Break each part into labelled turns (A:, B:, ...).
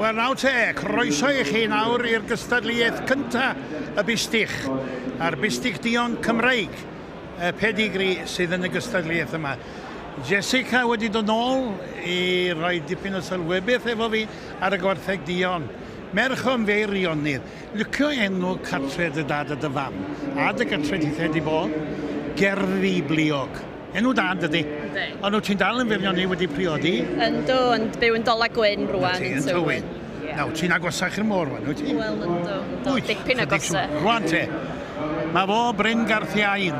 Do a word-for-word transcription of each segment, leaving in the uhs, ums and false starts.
A: Wel, nawr te, croeso i chi nawr i'r gystadleuaeth cynta y bistych, a'r bistych duon Cymreig, y pedigri sydd yn y gystadleuaeth yma. Jessica wedi dod nôl i roi dipyn o sylwebaeth efo fi ar y gwartheg duon. Merch o Feirionnydd. Licio enw cartre dy dad a dy fam, a dy gartre tithe di bod, Gerddi Bliog. Enw da, dydy?
B: Yndi.
A: Ond wyt ti'n dal yn Feirionnydd wedi priodi?
B: Yndw, ond byw yn Dola Gwyn rwan.
A: Yn Tywyn. Nawr, ti'n agosach i'r môr rwan, wyt ti?
B: Wel, yndw, yndw. Dipyn agosa.
A: Rwan te, mae fo Bryn Garthiain.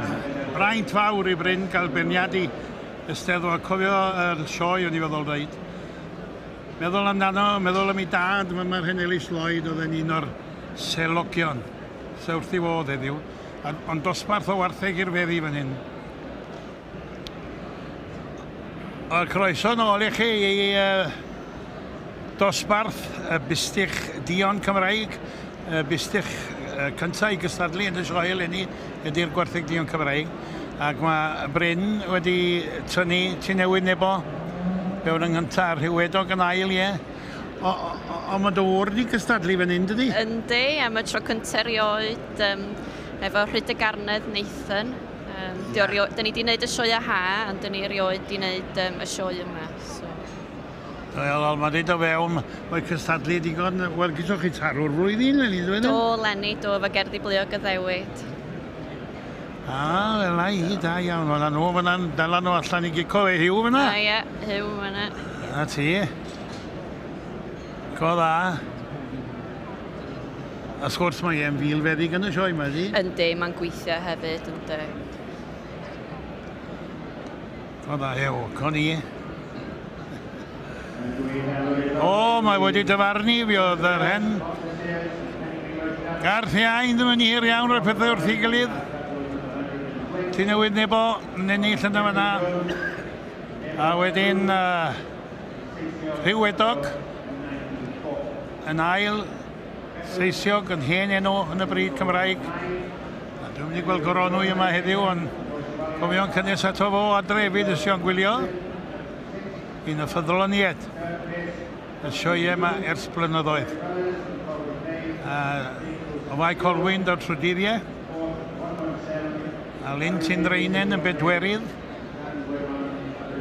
A: Braint fawr i Bryn gael beirniadu y Steddfod. Cofio yr sioe o'n i feddwl dweud. Meddwl amdano, meddwl am ei dad, mae'r hen Ellis Lloyd oedd yn un o'r selogion. Se wrth i fodd heddiw. Ond dosbarth o wartheg i'r feddi fan hyn. O'r croeso nôl i chi i uh, dosbarth y bistych duon Cymraeg, y bistych uh, cyntaf i gystadlu yn y sioe eleni ydy'r gwartheg duon Cymraeg. Ac mae Bryn wedi tynnu Tŷ Newydd Nebo fewn yng nghyntaf, Rhywedog yn ail, ie. Ond mae dy ŵr wedi cystadlu fan hyn, dydy?
B: Yndi, am y tro cyntaf erioed, um, efo Rhyd y Garnedd Nathan. Um, yeah. Dyn ni wedi gwneud y sioe ha, ond dyn ni erioed wedi gwneud um, y sioe yma. So.
A: Wel, mae wedi dod fewn, mae cystadlu digon, wel, gyda chi tarw'r flwyddyn, Leni, dwi'n
B: Do, Leni, do, efo Gerddi Bliog y Ddewid.
A: Ah, fel na i, da iawn. Fyna nhw, fyna'n dala nhw allan i gico fe, Huw fyna.
B: A ie, Huw fyna.
A: Na ti. Co dda. A sgwrs mae e'n filfeddyg yn y sioe yma, ydi?
B: Yndi, mae'n gweithio hefyd, yndi.
A: Co dda, hew, co ni. O, mae wedi dyfarnu, fi oedd yr hen. Garthiain ddim yn hir iawn rhoi pethau wrth ei gilydd. Tŷ Newydd Nebo yn ennill yna fyna. A wedyn uh, Rhywedog yn ail, Seisiog yn hen enw yn y bryd Cymraeg. A dwi'n mynd i gweld Goronwy yma heddiw, ond cofio'n cynnes ato fo adre hefyd ys o'n gwylio. Un y ffyddloniaid y sioe yma ers blynyddoedd. Uh, o Fae Colwyn daw'r trydyddiau. A Lyn Tindreinen yn bedwerydd.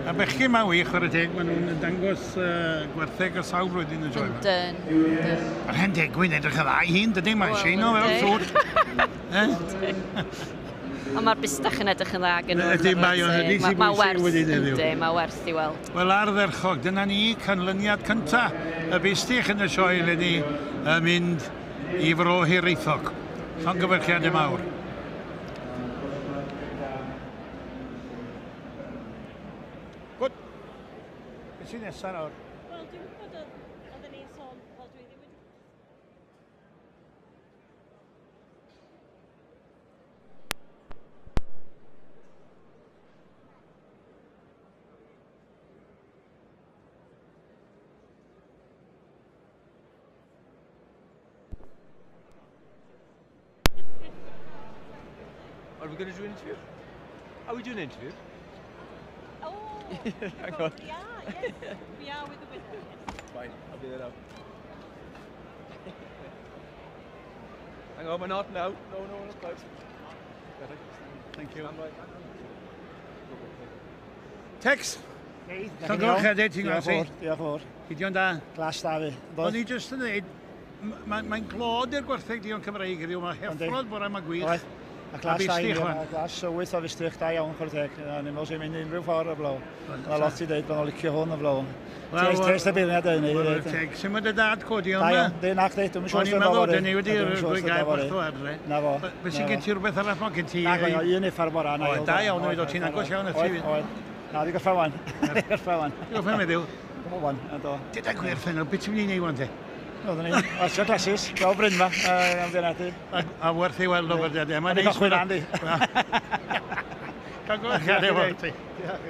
A: A bechgyn ma'n wych, chwarae teg, maen nhw'n dangos uh, gwartheg o sawl blwyddyn y sioe yma.
B: Yndyn, yndyn.
A: Mae'r hen Degwyn edrych yn dda i hun, dydy, mae'n sheino fel sŵr.
B: Ond mae'r bistach yn edrych yn dda gen nhw.
A: Ydy, mae o'n hynny sy'n bwysig wedyn heddiw.
B: Yndi, mae werth i weld.
A: Wel, ardderchog, dyna ni canlyniad cynta y bistych yn y sioe eleni yn mynd i Fro Hiraethog. Llongyfarchiadau mawr. Good. Beth sy'n nesaf nawr?
B: Wel, dwi'n gwybod oedden ni'n sôn, wel, dwi ddim wedi...
C: Are we going to do an interview? Are we doing an interview?
B: Oh,
C: Hang on.
B: We are, yes. We are with the winner. Yes.
C: Fine, I'll be there now. Hang on, we're not now. No, no, not quite.
A: Thank you. Tex! Llongyfarchiadau, ti'n gweld si?
D: Diolch yn fawr.
A: Gideon da.
D: Glas da fi.
A: O'n i jyst yn dweud, mae'n glod i'r gwartheg duon Cymreig heddiw, mae heffrod bore yma gwych.
D: A glas da i, a glas wyth o fistych da iawn, chwarae teg. Ni'n meddwl sy'n mynd unrhyw ffordd o blaw. Mae lot i dweud bod nhw'n licio hwn o blaw. Tes y beirniad yn ei ddweud.
A: Teg, sy'n mynd y dad codi
D: Da
A: yma?
D: iawn, dyn na chdi, dwi'n siŵr
A: O'n i'n
D: sy'n
A: meddwl,
D: fory.
A: dyn ni wedi rhoi gair bach o adre.
D: Na fo.
A: Be sy'n gen ti rhywbeth arall ma gen ti?
D: Na, un uffar bora.
A: O, da iawn, oedd o, ti'n agos iawn at ti.
D: Oedd, oedd. Na, di gorffen wan. Di gorffen wan.
A: Di gorffen heddiw?
D: Dwi'n wan, do.
A: Dyda gwir, Ffenol, beth ti'n mynd i wneud wan te?
D: Oedden ni, wasio glasses, gweld Bryn ma, am ddianadu.
A: A werth i weld o berdiadau.
D: Mae'n neis. Mae'n Andy.
A: Llongyfarchiadau fawr ti.
D: Diolch.